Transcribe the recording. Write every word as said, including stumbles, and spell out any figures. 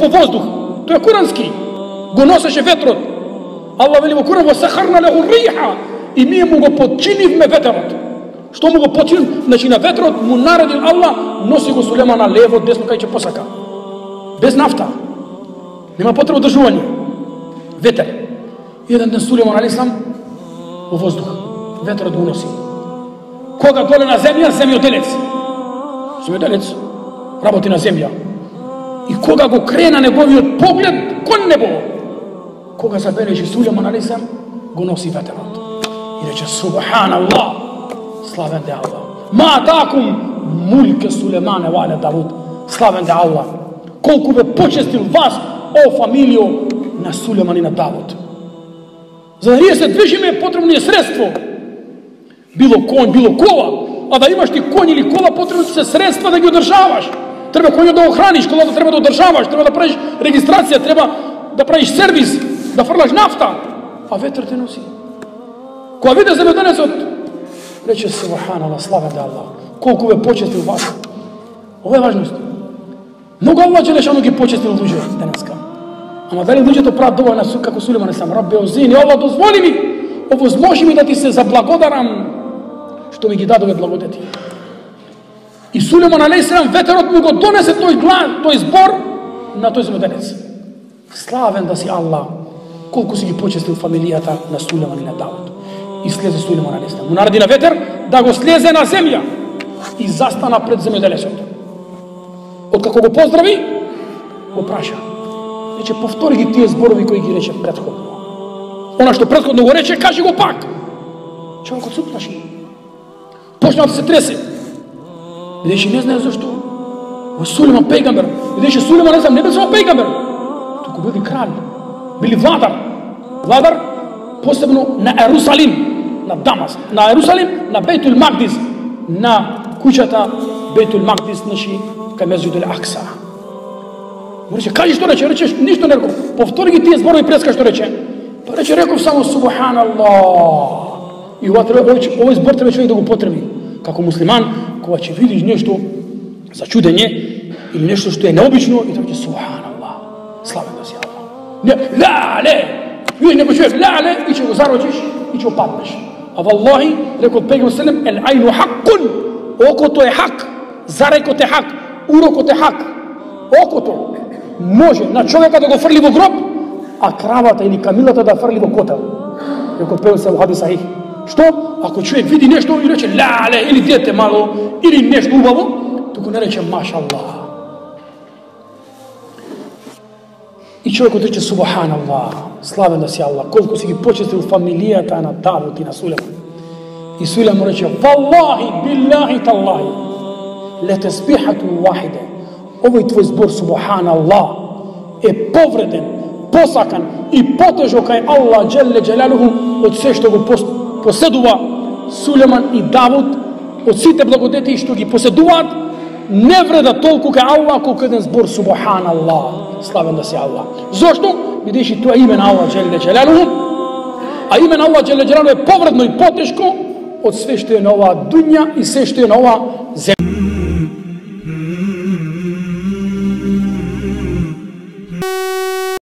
Во воздух, тој е курански, го носеше ветрот. Аллах вели во Куран: "Васахарна лаху риха", и ние му го подчинивме ветерот. Што му го подчинив? Значи на ветрот му наредил Аллах, носи го Сулеман на лево, десно, кај ќе посака. Без нафта. Нема потреба држување. Ветер. Еден ден Сулеман алейхиссалам во воздух, ветерот го носи. Кога доле на земја, земјоделец. Земјоделец работи на земја. И кога го крена неговиот поглед кон небо, кога забележи Сулеман алейхиссалам, го носи ветерот. И рече: "Субханаллах, славен де Аллах. Ма атакум мулке Сулемане вале Давуд." Славен де Аллах. Колку бе почестил вас, о фамилио на Сулеман и на Давуд. За да ние се движиме е потребно е средство. Било конј, било кола. А да имаш ти конј или кола, потребно се средства да ги одржаваш. Треба коњот да го храниш, колата треба да одржаваш, треба да правиш регистрација, треба да правиш сервис, да фрлаш нафта, а ветер те носи. Кога виде земјоделецот, рече: "Субханаллах, слава де Аллах, колку бе почестил вас." Ова е важност. Многу Аллах джелешану ги почестил луѓе денеска. Ама дали луѓето прават доволно како Сулеман сам? Рабби озини, Аллах дозволи ми, овозможи ми да ти се заблагодарам што ми ги дадове благодети. И Сулеман алейхиссалам ветерот му го донесе тој глас, тој збор на тој земјоделец. Славен да си Аллах, колку си ги почестил фамилијата на Сулеман и на Давуд. И слезе Сулеман алейхиссалам. Му нареди на ветер да го слезе на земја и застана пред земјоделецот. Откако го поздрави, го праша: "Рече, повтори ги тие зборови кои ги рече претходно. Она што претходно го рече, кажи го пак." Човекот се уплаши. Почна да се тресе. Видеше, не знае зашто. Во Сулеман пејгамбер. Видеше, Сулеман не знам, не бил само пејгамбер, туку били крал, били владар. Владар посебно на Ерусалим, на Дамас, на Ерусалим, на Бейтул Магдис, на куќата Бейтул Магдис, значи кај Месџидул Акса. Му рече: "Кажи што рече?" Рече: "Ништо не реков. Повтори ги тие зборови преска што рече." Па рече: "Реков само Субханаллах." И ова треба, овој збор треба човек да го потреби како муслиман, кога ќе видиш нешто за чудење или нешто што е необично, и тоа ќе: "Субханаллах, славен да си Аллах." Не, лале, видиш некој човек лале и ќе го зарочиш и ќе опаднеш. А валлахи, рекол пејгамбер селем: "Ел ајну хаккун." Окото е хак, зарекот е хак, урокот е хак. Окото може на човека да го фрли во гроб, а кравата или камилата да фрли во котел. Рекол пејгамбер селем хадис сахих. Што? Ако човек види нешто и рече лале, или дете мало, или нешто убаво, туку не рече машаллах. И човекот рече: "Субханаллах, славен да си Аллах, колку си ги почестил фамилијата на Давуд и на Сулеман." И Сулеман рече: "Валлахи, биллахи, таллахи, летесбихату вахиде." Овој твој збор Субханаллах е повреден, посакан и потежок кај Аллах джелле джелалуху од се што го поседува Сулеман и Давуд, од сите благодети што ги поседуваат, не вреда толку кај Аллах колку еден збор Субханаллах, славен да си Аллах. Зошто? Бидејќи тоа име на Аллах джелле джелалуху, а име на Аллах джелле джелалуху е повредно и потешко од све што е на оваа дуња и се што е на оваа земја.